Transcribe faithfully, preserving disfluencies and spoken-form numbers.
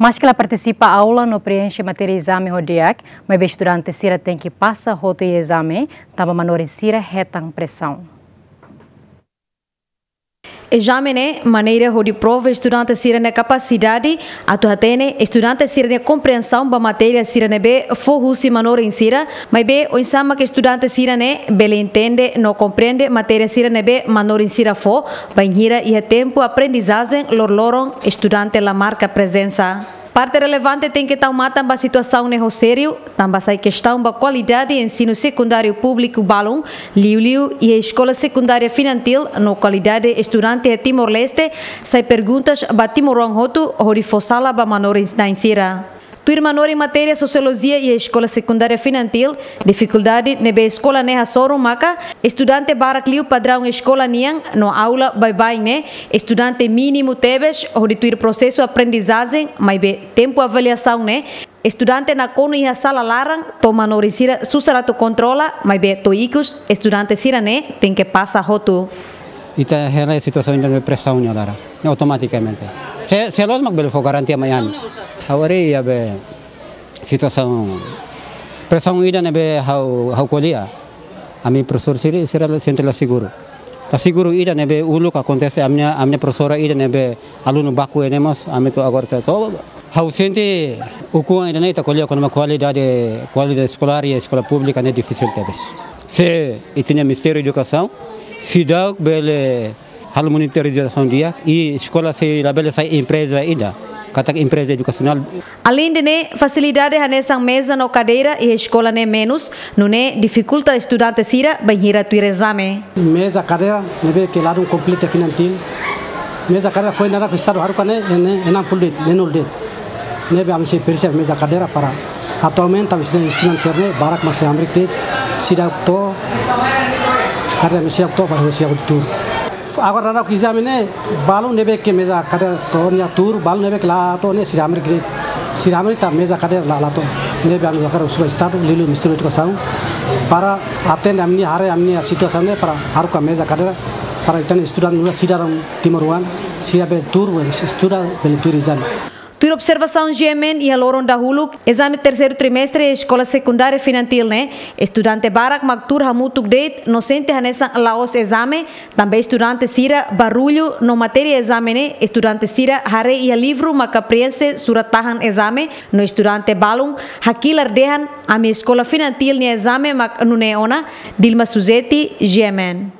Maske la partisipa aula no preenxe matéria ezame ho di'ak, maibé estudante sira tenke pasa hotu iha ezame, tanba manorin sira hetan presaun. Ezame ne'e maneira hodi prova estudante sira-nia kapasidade, atu hatene estudante sira-nia komprensaun ba matéria sira ne'ebé fó husi manorin sira, maibé oinsá mak estudante sira ne'e bele entende no komprende matéria sira ne'ebé manorin sira fó, bainhira iha tempu aprendizajen loroloron estudante la marka prezensa. Parte relevante tenke tau matan ba situasaun ne'e ho sériu, tanba sai kestaun ba kualidade ensinu sekundáriu públiku balun, liuliu iha eskola sekundária Finantil, no kualidade estudante iha Timor-Leste, sai perguntas ba timoroan hotu hodi fó sala ba manorin-na'in sira. Tuir manorin matéria Sosiolojia iha eskola sekundária Finantil, difikuldade ne'ebé eskola ne'e hasoru maka estudante barak liu padraun eskola nian, no aula baibain ne'e estudante mínimu tebes hodi tuir prosesu aprendizajen, maibé tempu avaliasaun ne'e estudante nakonu iha sala laran, to'o manorin sira susar atu kontrola, maibé to'o ikus estudante sira ne'e tenke pasa hotu. Ita hela situasaun ida ne'ebé presaun nia laran, ne'e automatikamente. Se, se loos mak bele fó garantia mai ami. Ha'u haree iha be situasaun presaun ida ne'ebé ha'u, ha'u ko'alia. Ami profesór sira, sira sente la seguru. La seguru ida ne'ebé uluk akontese ami-nia, ami-nia profesora ida ne'ebé alunu baku iha ne'e mós, ami to'o agora to'o, to'o ha'u sente ukun ida ne'e ita ko'alia kona-ba kualidade, kualidade eskolár iha eskola públika ne'e difisil tebes. Se ita-nia Ministériu Edukasaun seidauk bele halo monitorizasaun di'ak, i eskola sei labele sai empreza ida, katak empreza edukasionál. Aleinde ne'e, fasilidade hanesan meza no kadeira iha eskola ne'e menus, nune'e difikulta estudante sira bainhira tuir ezame. Meza kadeira ne'ebé ke ladún kompletu Finantil. Meza kadeira foin naran ke Estadu haruka ne'e, ne'e, enam puluh de'it, ne'e nol de'it. Ne'ebé ami sei presiza meza kadeira para atualmente ami sira estudante sira ne'e barak mak sei hamriik de'it, seidauk to'o, kadeira ami seidauk to'o para seidauk tuur. Agora daudaun ezame ne'e, balun ne'ebé ke meza kadeira to'o nia tuur, balun ne'ebé ke la to'o ne'e sira hamriik de'it. Sira hamriik tanba meza kadeira la, la to'o. Ne'ebé ami hakarak husu ba Estadu, liuliu Ministériu Edukasaun, para atende ami-nia, haree ami-nia situasaun ne'e para haruka meza kadeira, para ita-nia estudante nu'udar sidadaun timoroan, sira bele tuur, estuda, bele tuur ezame. Tuir observasaun G M N iha loron dahuluk, ezame terseiru trimestre eskola sekundária Finantil ne'e, estudante barak mak tuur hamutuk de'it no sente hanesan la'ós ezame, tanba estudante sira barullu no matéria ezame ne'e, estudante sira haree iha livru maka preenxe surat tahan ezame, no estudante balun hakilar dehan ami eskola Finantil nia ezame mak nune'e ona. Dilma Suzeti, G M N.